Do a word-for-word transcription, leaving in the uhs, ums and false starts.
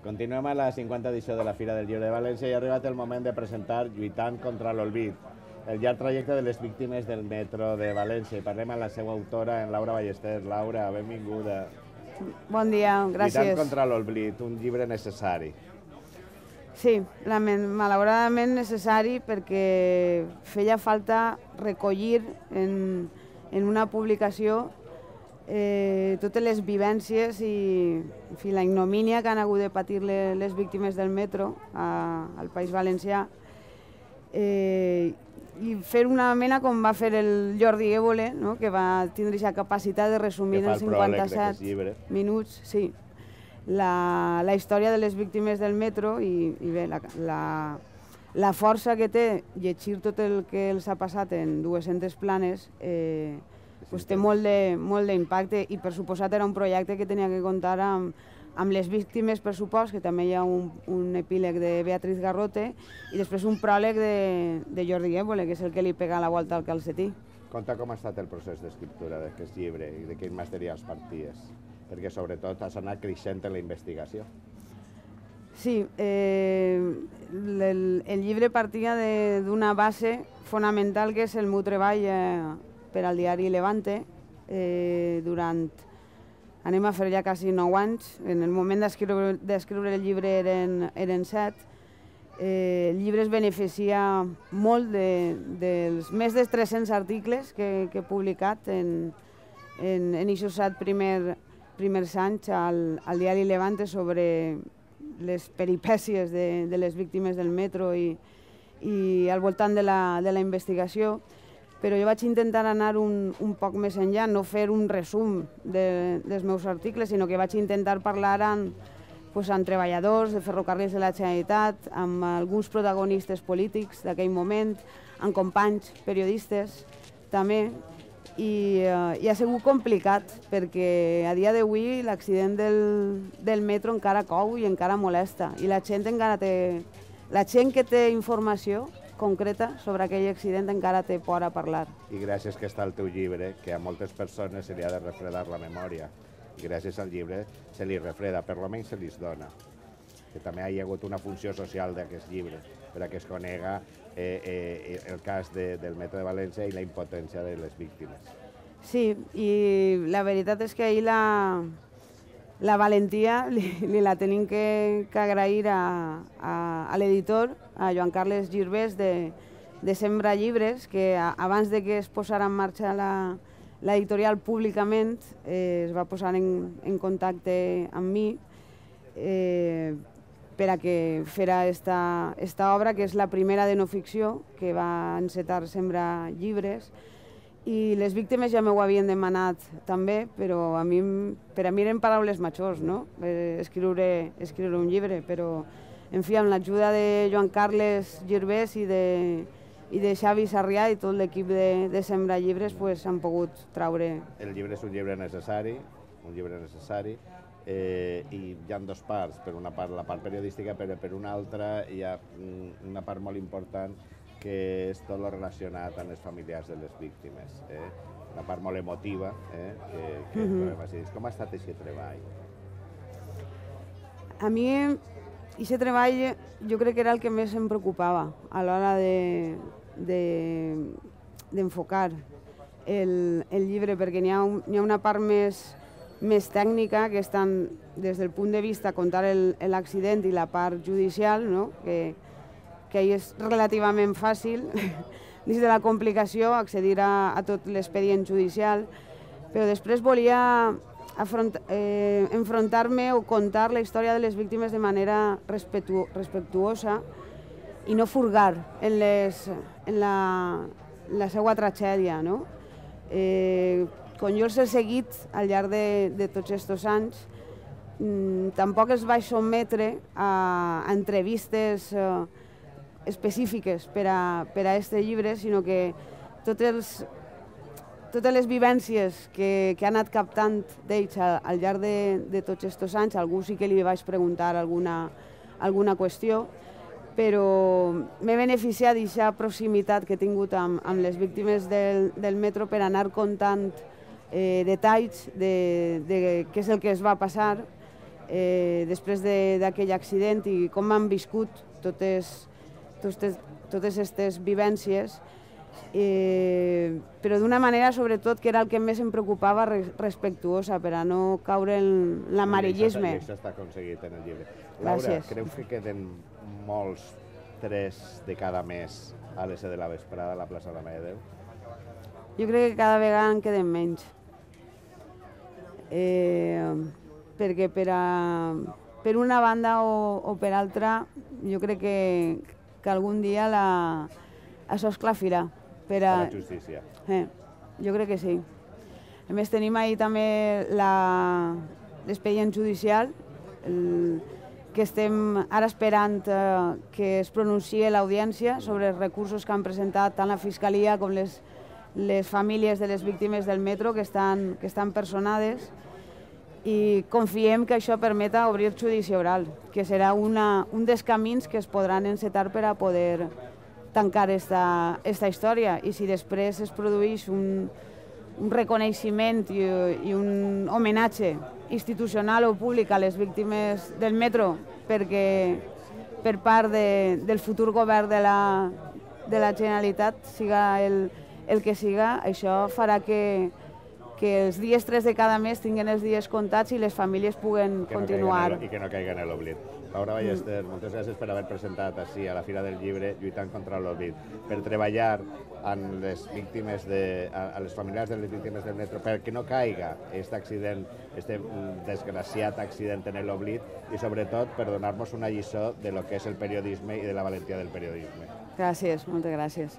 Continuem a la cinquanta edició de la Fira del Llibre de València i ha arribat el moment de presentar Lluitant contra l'Olvid, el llarg trajecte de les víctimes del metro de València. I parlem amb la seva autora, en Laura Ballester. Laura, benvinguda. Bon dia, gràcies. Lluitant contra l'Olvid, un llibre necessari. Sí, malauradament necessari perquè feia falta recollir en, en una publicació eh, totes les vivències i en fi, la ignomínia que han hagut de patir les, les víctimes del metro a, al País Valencià eh, i fer una mena com va fer el Jordi Évole, no? Que va tindre aquesta capacitat de resumir en cinquanta-set minuts sí, la, la història de les víctimes del metro i, i bé, la, la, la força que té llegir tot el que els ha passat en dues-centes planes eh, pues té molt d'impacte i per suposat era un projecte que tenia que comptar amb, amb les víctimes, per supost, que també hi ha un, un epíleg de Beatriz Garrote i després un pròleg de, de Jordi Évole, que és el que li pega la volta al calcetí. Conta com ha estat el procés d'escriptura d'aquest llibre i de quins materials parties, perquè sobretot has anat creixent en la investigació. Sí, eh, el, el llibre partia d'una base fonamental que és el meu treball eh, per al diari Levante eh, durant, anem a fer ja quasi nou anys, en el moment d'escriure el llibre eren, eren set, eh, el llibre es beneficia molt de, dels més de tres-cents articles que, que he publicat en, en, en aquests set primer, primers anys al, al diari Levante sobre les peripècies de, de les víctimes del metro i, i al voltant de la, de la investigació. Però jo vaig intentar anar un, un poc més enllà, no fer un resum de, dels meus articles, sinó que vaig intentar parlar amb, pues, amb treballadors de ferrocarrils de la Generalitat, amb alguns protagonistes polítics d'aquell moment, amb companys periodistes també, i, uh, i ha sigut complicat, perquè a dia d'avui l'accident del, del metro encara cou i encara molesta, i la gent encara té, la gent que té informació concreta sobre aquell accident encara té por a parlar. I gràcies que està el teu llibre, que a moltes persones se li ha de refredar la memòria. I gràcies al llibre se li refreda, per almenys se li dona. Que també hi ha hagut una funció social d'aquest llibre, per a que es conega eh, eh, el cas de, del metro de València i la impotència de les víctimes. Sí, i la veritat és que ahir la, la valentia li, li la tenim que, que agrair a, a, a l'editor, a Joan Carles Girbès, de, de Sembra Llibres, que a, abans de que es posara en marxa l'editorial públicament eh, es va posar en, en contacte amb mi eh, per a que fera esta, esta obra, que és la primera de no ficció que va encetar Sembra Llibres. I les víctimes ja m'ho havien demanat també, però a mi, per a mi eren paraules majors, no? Eh, escriure, escriure un llibre, però en fi, amb l'ajuda de Joan Carles Girbès i de, i de Xavi Sarrià i tot l'equip de, de Sembra Llibres pues, han pogut traure... El llibre és un llibre necessari, un llibre necessari, eh, i hi ha dues parts. Per una part la part periodística, però per una altra hi ha una part molt important que és tot el relacionat amb els familiars de les víctimes. Eh? Una part molt emotiva, eh? que, que mm-hmm. Com ha estat aquest treball? A mi, aquest treball jo crec que era el que més em preocupava a l'hora d'enfocar de, de, el, el llibre, perquè n'hi ha, un, hi ha una part més, més tècnica, que estan des del punt de vista contar l'accident i la part judicial, no? que que ahir és relativament fàcil, dins de la complicació, accedir a, a tot l'expedient judicial, però després volia afront, eh, enfrontar-me o contar la història de les víctimes de manera respectu, respectuosa i no furgar en, les, en la, la seva tragèdia. No? Eh, quan jo els he seguit al llarg de, de tots aquests anys, mm, tampoc els vaig sotmetre a, a entrevistes eh, específiques per a, per a este llibre, sinó que tots els, totes les vivències que, que ha anat captant d'ells al, al llarg de, de tots aquests anys, algú sí que li vaig preguntar alguna, alguna qüestió, però m'he beneficiat d'aquesta proximitat que he tingut amb, amb les víctimes del, del metro per anar contant eh, detalls de, de què és el que es va passar, eh, després d'aquell accident i com han viscut totes totes, totes aquestes vivències, eh, però d'una manera, sobretot, que era el que més em preocupava, respectuosa, per a no caure en l'amarillisme. I això està aconseguit en el llibre. Laura, creus que queden molts tres de cada mes a les set de la vesprada a la plaça de la Mare de Déu? Jo crec que cada vegada en queden menys. Eh, perquè per, a, per una banda o, o per altra, jo crec que, que algun dia la, això es clafirà. Per a, la justícia. Eh, jo crec que sí. A més, tenim ahir també l'expedient judicial, el, que estem ara esperant eh, que es pronunciï l'audiència sobre els recursos que han presentat tant la Fiscalia com les, les famílies de les víctimes del metro que estan, que estan personades, i confiem que això permeta obrir judici oral, que serà una, un dels camins que es podran encetar per a poder tancar esta, esta història. I si després es produeix un, un reconeixement i, i un homenatge institucional o públic a les víctimes del metro perquè per part de, del futur govern de la, de la Generalitat, siga el, el que siga, això farà que, que els dies tres de cada mes tinguin els dies comptats i les famílies puguen que continuar. No I que no caiguen en l'oblit. Laura Ballester, mm. moltes gràcies per haver presentat així a la Fira del Llibre Lluitant contra l'Oblit, per treballar amb les víctimes de, a, a les familiars de les víctimes del metro, perquè no caiga aquest accident, aquest desgraciat accident en l'oblit i sobretot per donar-nos una lliçó de lo que és el periodisme i de la valentia del periodisme. Gràcies, moltes gràcies.